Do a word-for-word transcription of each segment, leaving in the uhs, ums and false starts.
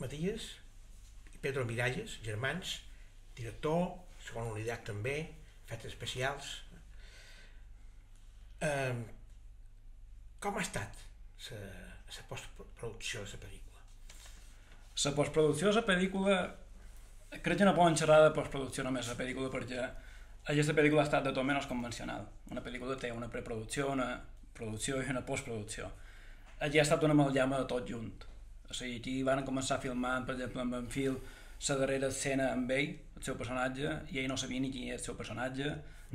Matías i Pedro Miralles, germans, director, segona unitat també, efectes especials. Eh, com ha estat la postproducció de la pel·lícula? La postproducció de la pel·lícula, crec que no poden xerrar de postproducció només de la pel·lícula, perquè aquesta pel·lícula ha estat de tot menys convencional. Una pel·lícula té una preproducció, una producció i una postproducció. Aquí ha estat una amalgama de tot junt. O sigui, aquí van començar filmant, per exemple, amb en Phil, la darrera escena amb ell, el seu personatge, i ell no sabia ni qui era el seu personatge,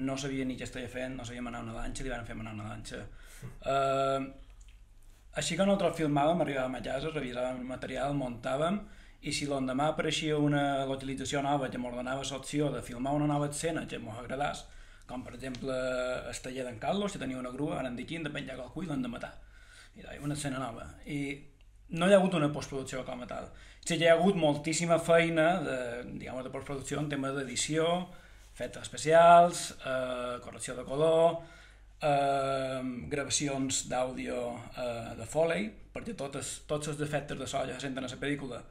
no sabia ni què estava fent, no sabia manar una lanxa, li van fer manar una lanxa. Uh, així que nosaltres filmàvem, arribàvem a casa, revisàvem el material, muntàvem, i si l'endemà apareixia una localització nova que m'ordenava l'opció de filmar una nova escena que m'ho agradàs, com per exemple el taller d'en Carlos, que tenia una grua, ara en dic de penjar qualcú i l'han de matar. I deia, una escena nova. I no hi ha hagut una postproducció com a tal. Sí que hi ha hagut moltíssima feina de, diguem, de postproducció en tema d'edició, efectes especials, eh, correcció de color, eh, gravacions d'àudio eh, de Foley, perquè totes, tots els defectes de so que se senten a la pel·lícula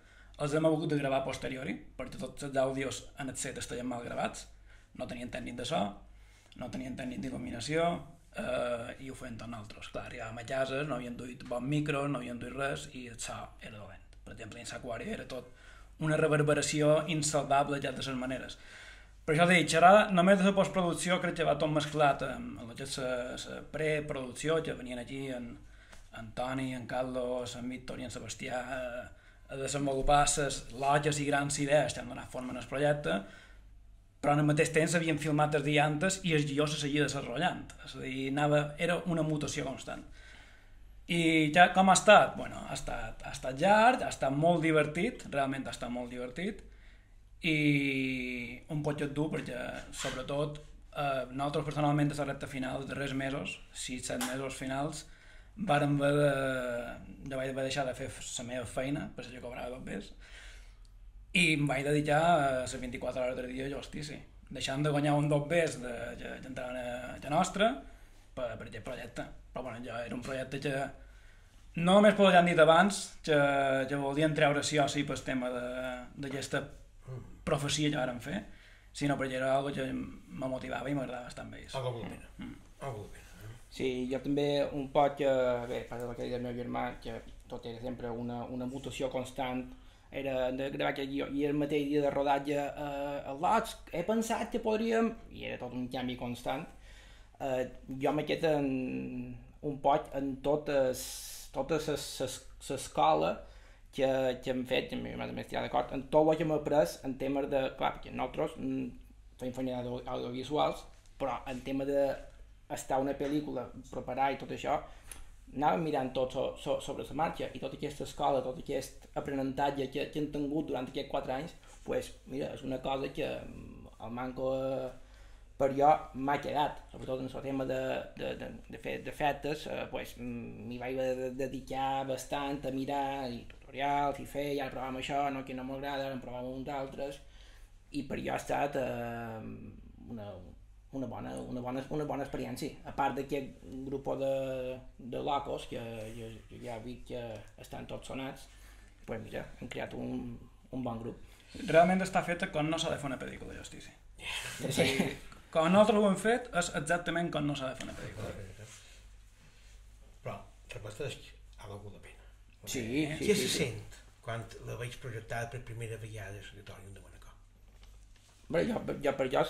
els hem hagut de gravar a posteriori, perquè tots els àudios en el set estaven mal gravats, no tenien tècnic de so, no tenien tècnic d'il·luminació, eh, i ho feien tots nosaltres. Clar, arribàvem a casa, no havien duit bons micros, no havien duit res, i el so era dolent. Per exemple, en l'Aquari era tot una reverberació insalvable ja de les maneres. Per això dic, xerrar només de la postproducció crec que va tot mesclat amb la preproducció, que venien aquí en, en Toni, en Carlos, en Víctor i en Sebastià a, a desenvolupar les lògies i grans idees que han donat forma al projecte, però al mateix temps havien filmat els dia antes i el guió se seguia desenvolupant. És a dir, anava, era una mutació constant. I ja com ha estat? Bueno, ha estat, ha estat llarg, ha estat molt divertit, realment ha estat molt divertit, i un potxet dur perquè, sobretot, eh, nosaltres personalment a la recta final, els darrers mesos, sis set mesos finals, vàrem haver de, de, vaig haver deixar de fer la meva feina, per si jo cobrava dos bes, i em vaig dedicar a les vint-i-quatre hores del dia a justici, deixant de guanyar un dos bes de, de, d'entrar a la nostra per, per aquest projecte. Però bueno, ja era un projecte que no només pel que han dit abans, que, que volien treure sí o sí pel tema d'aquesta profecia que vàrem fer, sinó perquè era algo que me motivava i m'agradava bastant bé. Algo de pena. Mm. Algo de pena. Sí, jo també un poc, que, bé, per el que deia el meu germà, que tot era sempre una, una mutació constant, era de gravar aquest guió, i el mateix dia de rodatge eh, a Lots, he pensat que podríem, i era tot un canvi constant, eh, jo m'he quedat en, un poc en totes, totes l'escola que, que hem fet, que m'he estat d'acord, en tot el que m'he après en temes de, clar, perquè nosaltres fem feina audiovisuals, però en tema de estar una pel·lícula, preparar i tot això, anàvem mirant tot so, so, sobre la marxa, i tota aquesta escola, tot aquest aprenentatge que, que hem tingut durant aquests quatre anys, pues, mira, és una cosa que el manco eh, per jo m'ha quedat, sobretot en el tema de, de, de, de fer d'efectes, eh, pues, m'hi vaig de dedicar bastant a mirar i tutorials i fer, ja provàvem això, no, que no m'agrada, ara en provàvem uns altres, i per jo ha estat eh, una Una bona, una, bona, una bona experiència, a part d'aquest grup de, de locos que jo, jo ja he vist que estan tots sonats, pues mira, hem creat un, un bon grup. Realment està feta com no s'ha de fer una pel·lícula de justícia. Sí. Com nosaltres ho hem fet és exactament com no s'ha de fer una pel·lícula. Però, repeteix, ha valgut la pena. Sí, sí, Què sí, se sí. sent quan la veig projectada per primera vegada a l'auditori de Manacor? Bé, jo, jo per jo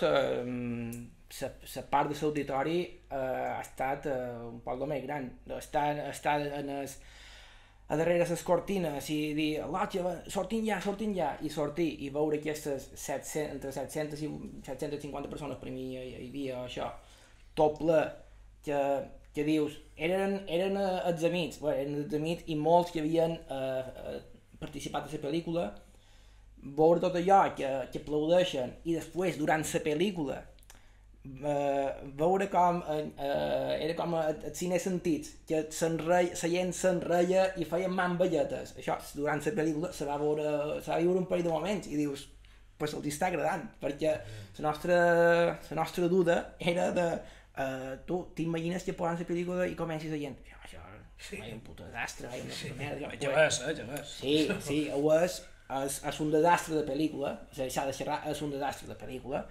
la part de l'auditori eh, ha estat eh, un poc més gran. Estar, estar en es, a darrere les cortines i dir, l'otge, sortim ja, sortim ja, i sortir i veure aquestes set cents, entre set-centes i set-cents cinquanta persones per mi hi, hi havia això, tot ple, que, que dius, eren, eren els amics, bé, eren els amics i molts que havien eh, participat a la pel·lícula, veure tot allò que, que aplaudeixen i després, durant la pel·lícula, eh, veure com eh, era com el cine sentits, que la gent s'enreia i feien manvelletes. Això, durant la pel·lícula se va veure, se va viure un parell de moments i dius, pues els està agradant, perquè la nostra, la nostra duda era de eh, tu t'imagines que posen la pel·lícula i comencis la gent, això, això, Sí. vai un puto desastre, vai una puta merda. Ja ves, eh, ja ves. Sí, sí, ho és, és, és un desastre de pel·lícula, o sigui, s'ha de xerrar, és un desastre de pel·lícula,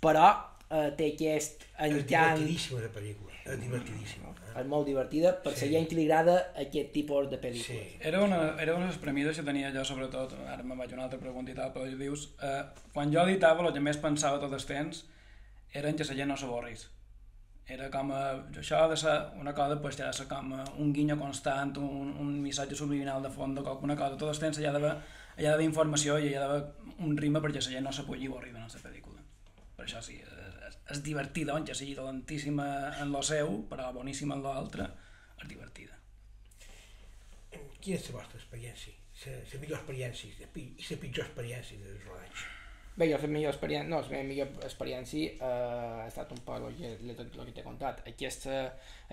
però eh, té aquest encant... És divertidíssima de pel·lícula, és divertidíssima. Eh? És molt divertida per sí. la gent que li agrada aquest tipus de pel·lícules. Sí. Era una, era una de les premisses que tenia jo, sobretot, ara me'n vaig a una altra pregunta i tal, però dius, eh, quan jo editava, el que més pensava tot el temps era en que la gent no s'avorrís. Era com a, això ha de ser una cosa, pues, ha de ser com un guinyo constant, un, un missatge subliminal de fons, alguna cosa, tot el temps hi ha d'haver hi ha d'haver informació i hi ha d'haver un ritme perquè la gent no se pugui avorrir en la pel·lícula. Per això sí, és, és divertida, on ja sigui dolentíssima en lo seu, però boníssima en l'altre, és divertida. Quina és la vostra experiència? La millor experiència i la pitjor experiència del rodatge? Bé, jo la millor experiència, no, la millor experiència eh, ha estat un poc el que, el que t'he contat, aquest,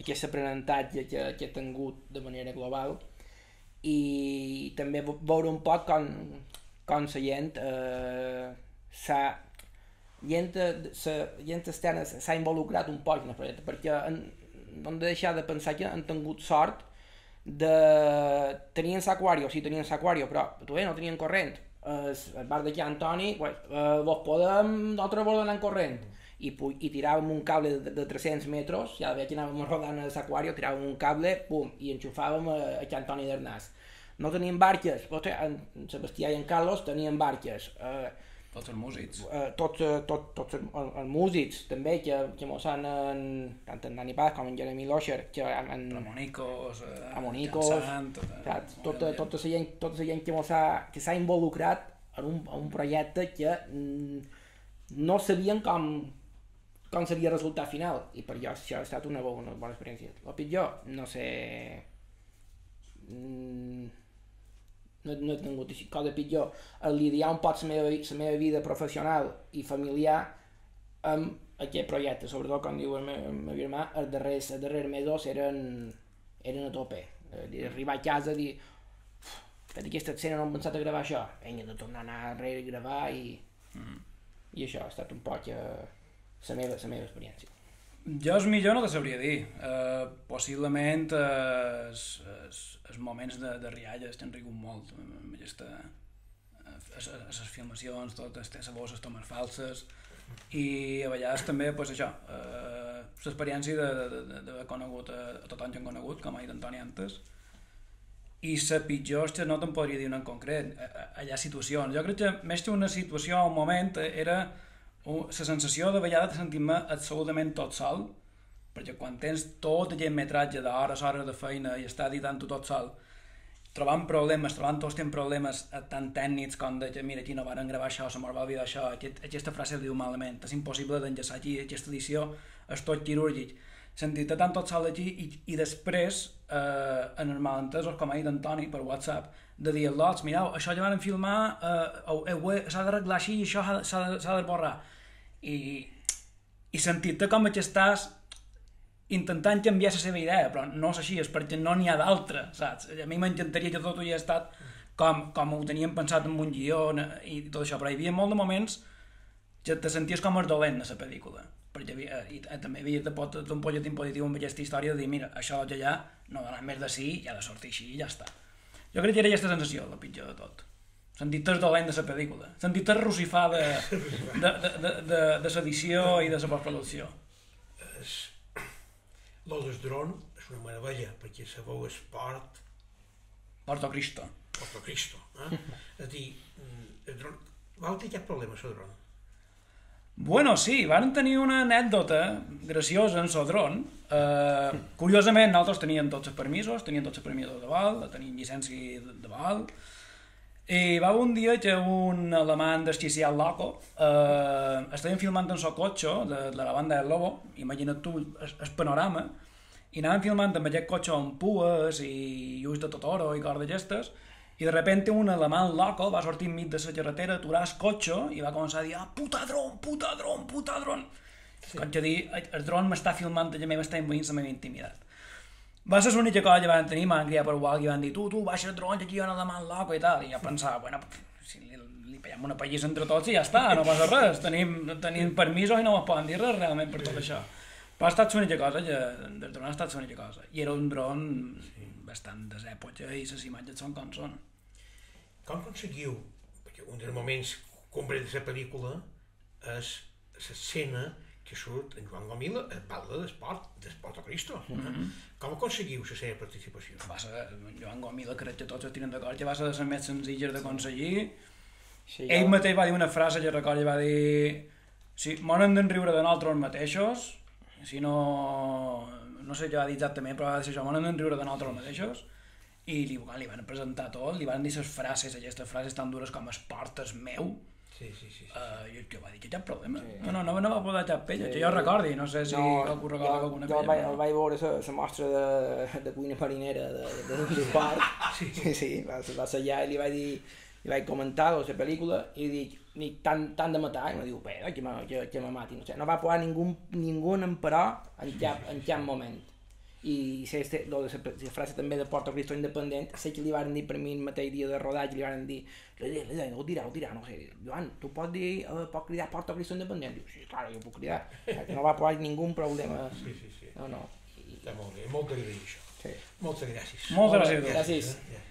aquest aprenentatge que, que he tingut de manera global i també veure un poc com, com la gent eh, s'ha gent, la gent externa s'ha involucrat un poc en el projecte, perquè han, no hem de deixar de pensar que han tingut sort de... tenien l'aquari, o sigui, tenien l'aquari, però bé, no tenien corrent. El bar de Can Antoni, pues, eh, vos podem nosaltres vos donar corrent i, i tiràvem un cable de, de tres-cents metres, ja veia que anàvem rodant a l'aquari, tiràvem un cable, pum, i enxufàvem a, a Can Antoni d'Arnàs. No teníem barques, vostè, en Sebastià i en Carlos tenien barques. Eh, tots els músics. Eh, tots tot, tot els, els músics, també, que, que mos han, en, tant en Dani Paz com en Jeremy Losher, que en... Ramonicos, eh, Ramonicos, Sant, tota, tota, tota la gent, tota la gent que mos ha, que s'ha involucrat en un, en un projecte que mm, no sabien com, com seria el resultat final, i per jo això ha estat una bona, una bona experiència. El pitjor, no sé... Mm, no, no he tingut així, cosa pitjor, el lidiar un poc la meva, la meva vida professional i familiar amb aquest projecte, sobretot com diu el meu, el meu germà, els darrers, els darrers mesos eren, eren a tope. Arribar a casa i dir, fet aquesta escena no hem pensat a gravar això, vinga, de tornar a anar darrere i gravar i, mm. i això ha estat un poc eh, la meva, la meva experiència. Jo el millor no te sabria dir. Uh, possiblement uh, els, els, els moments de, de rialles t'han rigut molt amb aquesta... les filmacions, totes les bosses tomes falses i a vegades també pues, això, uh, l'experiència d'haver conegut a, a tothom que han conegut, com ha dit Antoni antes, i la pitjor que no te'n podria dir una en concret. Hi ha situacions. Jo crec que més que una situació o un moment era la sensació de vegades de sentir-me absolutament tot sol, perquè quan tens tot aquest metratge d'hores, hores de feina i estàs editant-ho tot sol, trobant problemes, trobant tots els problemes tan tècnics com de que mira, aquí no varen gravar això, se m'ho va oblidar això, aquest, aquesta frase diu malament, és impossible d'enllaçar aquí, aquesta edició és tot quirúrgic. Sentir-te tant tot sol aquí i, i després, eh, en els malentesos, com ha dit Antoni per WhatsApp, de dir, lots, mireu, això ja van filmar, eh, eh, s'ha d'arreglar així i això s'ha de, de borrar. I, i sentir-te com que estàs intentant canviar la seva idea, però no és així, és perquè no n'hi ha d'altra, saps? A mi m'encantaria que tot ho hi ha estat com, com ho teníem pensat en un guió i tot això, però hi havia molt de moments que te senties com el dolent de la pel·lícula, perquè havia, i, i també havia de pot un polletín positiu amb aquesta història de dir, mira, això ja ja no dona més de sí, ja ha de sortir així i ja està. Jo crec que era aquesta sensació, la pitjor de tot. Sentir-te el dolent de la pel·lícula, sentir-te rossifar de, de, de, de, de, de l'edició i de la postproducció. Lo del dron és una meravella, perquè sabeu esport... Porto Cristo. Porto Cristo, eh? És a dir, el dron... Vau tenir cap problema, el dron? Bueno, sí, van tenir una anècdota graciosa en el dron. Uh, curiosament, nosaltres teníem tots els permisos, teníem tots els permisos de vol, teníem llicència de vol, i va haver un dia que un alemany desquiciat loco eh, estaven filmant en el cotxe de, de la banda del Lobo, imagina't tu el, el panorama, i anaven filmant amb aquest cotxe amb pues i ulls de Totoro i coses d'aquestes, i de repente un alemany loco va sortir enmig de la carretera, aturar el cotxe i va començar a dir, ah, puta dron, puta dron, puta dron. Sí. Com que dir, el dron m'està filmant, ja m'està envaint la meva intimitat. Va ser l'única cosa que van tenir, m'han criat per igual, i van dir, tu, tu, baixa el dron, que aquí hi ha un alemany loco i tal, i jo pensava, bueno, si li, li peguem una pallissa entre tots i ja està, no passa res, tenim, tenim permisos i no ens poden dir res realment per tot això. Però ha estat l'única cosa, que, el dron ha estat l'única cosa, i era un dron sí. bastant desèpoca i les imatges són com són. Com aconseguiu que un dels moments complet de la pel·lícula és l'escena que surt en Joan Gomila a parla d'esport, d'esport a Cristo. Mm-hmm. Com aconseguiu la seva participació? Va ser, Joan Gomila, crec que tots estiren d'acord, que va ser de les més senzilles d'aconseguir. Sí, ell jo... mateix va dir una frase que recordo, va dir si m'han de riure de nosaltres mateixos, si no... no sé què va dir exactament, però va dir això, m'han de riure de nosaltres mateixos, i li, li van presentar tot, li van dir les frases, aquestes frases tan dures com esport és meu. Sí, sí, sí. sí. Uh, I que va dir que cap problema. Sí. No, no, no, no va poder cap pella, sí. Que jo recordi, no sé si no, algú recorda alguna pella. Jo vaig, no. vaig veure la mostra de, de cuina marinera de, de, de l'esport, sí. sí, sí, va, va ser allà i li vaig dir, li vaig comentar la pel·lícula i dic, ni tant, tant de matar, i em diu, bé, que, que, que me mati, no sé, no va posar ningú, ningú emperò en cap, en cap moment. I la frase també de Porto Cristo Independent, sé que li van dir per mi el mateix dia de rodatge, li van dir ho dirà, ho dirà, no sé, Joan, tu pots dir, uh, pots cridar Porto Cristo Independent? Diu, sí, clar, jo puc cridar, no va posar ningú problema. Sí, sí, sí. No, no. Està molt bé, molt d'agrair això. Sí. Moltes gràcies. Moltes gràcies. Gràcies. gràcies.